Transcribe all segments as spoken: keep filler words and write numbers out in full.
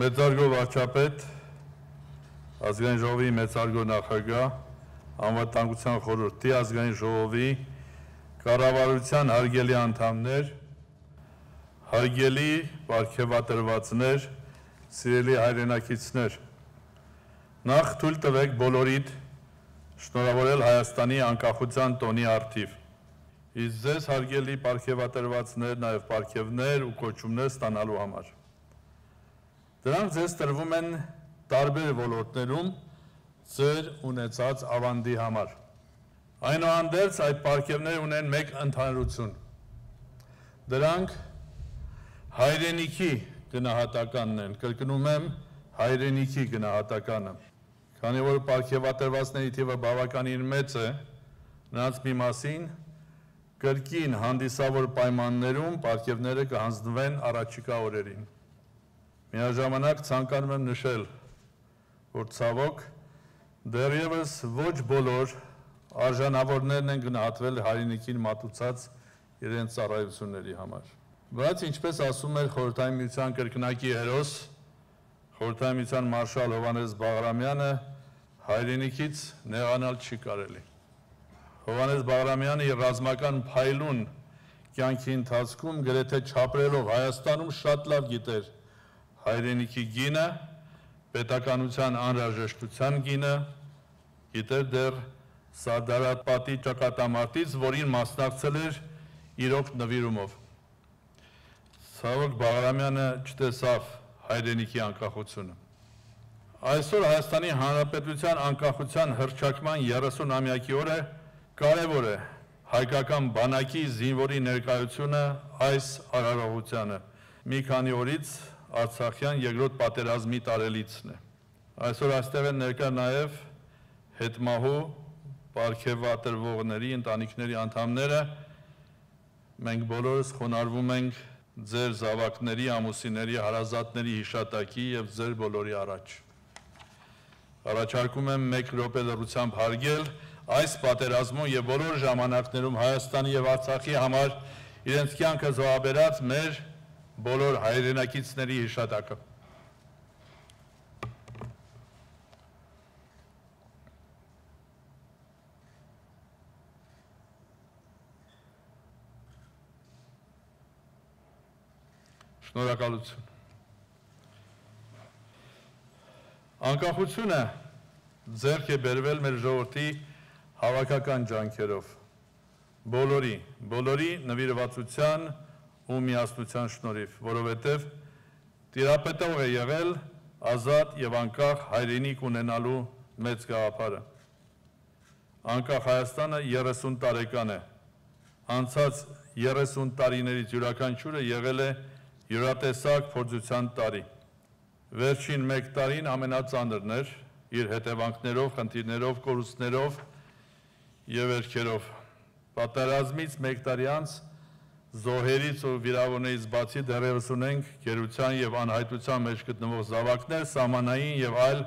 Մեծարգո վարչապետ, ազգային ժողովի մեծարգո նախագահ, անվտանգության խորհրդի ազգային ժողովի, կառավարության հարգելի անդամներ, հարգելի պարգևատրվածներ, սիրելի հայրենակիցներ, նախ թույլ տվեք բոլորիդ շնորհավորել Հայաստանի անկախության տոնի առթիվ։ Իսկ ձեզ հարգելի պարգևատրվածներ, նաև պարգևներ ու կոչումներ ստանալու համար։ Դրանք ձեզ տրվում են տարբեր ոլորտներում ձեր ունեցած ավանդի համար։ Այնուհանդերձ այդ պարգևները ունեն մեկ ընդհանրություն։ Դրանք հայրենիքի գնահատականն են, կրկնում եմ, հայրենիքի գնահատականը։ Քանի որ պարգևատրվածների թիվը բավականին մեծ է, նրանց մի մասին կրկին հանդիսավոր պայմաններում պարգևները կհանձնվեն առաջիկա օրերին։ Միաժամանակ ցանկանում եմ նշել, որ ցավոք դեռևս ոչ բոլոր արժանավորներն են գնահատվել հայրենիքին մատուցած իրենց ծառայությունների համար։ Բայց ինչպես ասում էր Խորհրդային Միության կրկնակի հերոս, Խորհրդային Միության մարշալ Հովհաննես Բաղրամյանը, հայրենիքից նեղանալ չի կարելի։ Հովհաննես Բաղրամյանը իր ռազմական փայլուն կյանքի ընթացքում գրեթե չապրելով Հայաստանում շատ լավ գիտեր հայրենիքի գինը, պետականության անհրաժեշտության գինը, գիտեր դեռ Սարդարապատի ճակատամարտից, որին մասնակցել էր իրոք նվիրումով։ Ցավոք Բաղրամյանը չտեսավ հայրենիքի անկախությունը։ Այսօր Հայաստանի Հանրապետության անկախության հռչակման երեսունամյակի օրը կարևոր է հայկական բանակի զինվորի ներկայությունը այս արարողությանը։ Մի քանի օրից Արցախյան երկրորդ պատերազմի տարելիցն է։ Այսօր այստեղ են ներկա նաև հետմահու պարգևատրվողների ընտանիքների անդամները։ Մենք բոլորս խոնարհվում ենք ձեր զավակների, ամուսինների, հարազատների հիշատակի և ձեր բոլորի առաջ։ Առաջարկում եմ մեկ րոպե լռությամբ հարգել այս պատերազմում և բոլոր ժամանակներում Հայաստանի և Արցախի համար իրենց կյանքը զոհաբերած մեր բոլոր հայրենակիցների հիշատակը։ Շնորհակալություն։ Անկախությունը ձեռք է բերվել մեր ժողովրդի հավաքական ջանքերով, բոլորի, բոլորի նվիրվածության ու միասնության շնորհիվ, որովհետև տիրապետող է եղել ազատ և անկախ հայրենիք ունենալու մեծ գաղափարը։ Անկախ Հայաստանը երեսուն տարեկան է, անցած երեսուն տարիներից յուրաքանչյուրը եղել է յուրատեսակ փորձության տարի։ Վերջին մեկ տարին ամենածանրն էր իր հետևանքներով, խնդիրներով, կորուստներով և վերքերով։ Պատերազմից մեկ տարի անց զոհերից ու վիրավորներից բացի դեռևս ունենք գերության և անհայտության մեջ գտնվող զավակներ, սահմանային և այլ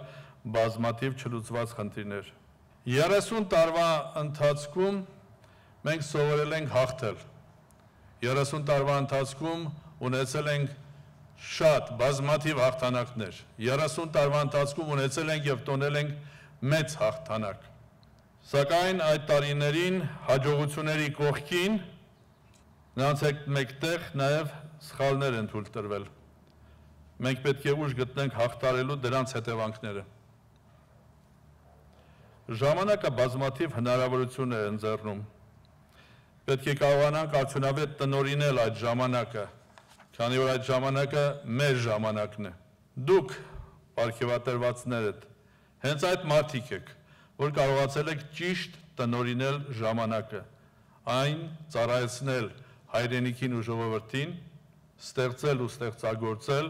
բազմաթիվ չլուծված խնդիրներ։ երեսուն տարվա ընթացքում մենք սովորել ենք հաղթել։ երեսուն տարվա ընթացքում ունեցել ենք շատ բազմաթիվ հաղթանակներ։ երեսուն տարվա ընթացքում ունեցել ենք և տոնել ենք մեծ հաղթանակ։ Սակայն այդ տարիներին հաջողությունների կողքին նրանց հետ մեկտեղ նաև սխալներ են թույլ տրվել։ Մենք պետք է ուժ գտնենք հաղթարելու դրանց հետևանքները։ Ժամանակը բազմաթիվ հնարավորություններ է ընձեռնում։ Պետք է կարողանանք արդյունավետ տնօրինել այդ ժամանակը, քանի որ այդ ժամանակը մեր ժամանակն է։ Դուք, պարգևատրվածներդ, հենց այդ մարդիկ եք, որ կարողացել եք ճիշտ տնօրինել ժամանակը, այն ծառայեցնել հայրենիքին ու ժողովրդին, ստեղծել ու ստեղծագործել,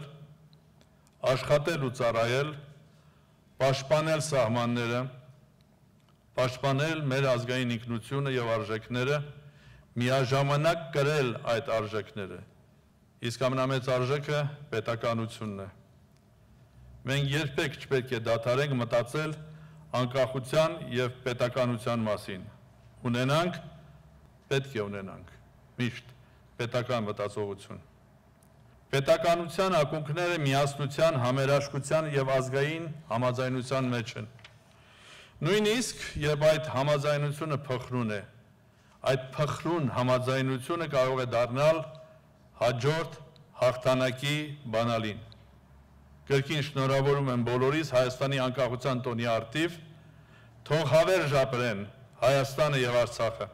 աշխատել ու ծառայել, պաշտպանել սահմանները, պաշտպանել մեր ազգային ինքնությունը և արժեքները, միաժամանակ կրել այդ արժեքները, իսկ ամենամեծ արժեքը պետականությունն է։ Մենք երբեք չպետք է դադարենք մտածել անկախության և պետականության մասին։ Ունենանք, պետք է ունենանք, միշտ պետական մտածողություն։ Պետականության ակունքները միասնության, համերաշխության և ազգային համաձայնության մեջ են։ Նույնիսկ, երբ այդ համաձայնությունը փխրուն է, այդ փխրուն համաձայնությունը կարող է դառնալ հաջորդ հաղթանակի բանալին։ Կրկին շնորհավորում եմ բոլորիս Հայաստանի անկախության տոնի առթիվ, թող հավերժ ապրեն Հայաստանը և Արցախը։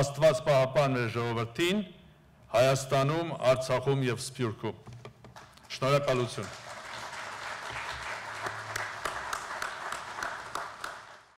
Աստված պահապան մեր ժողովրդին, Հայաստանում, Արցախում և Սփյուռքում։ Շնորհակալություն։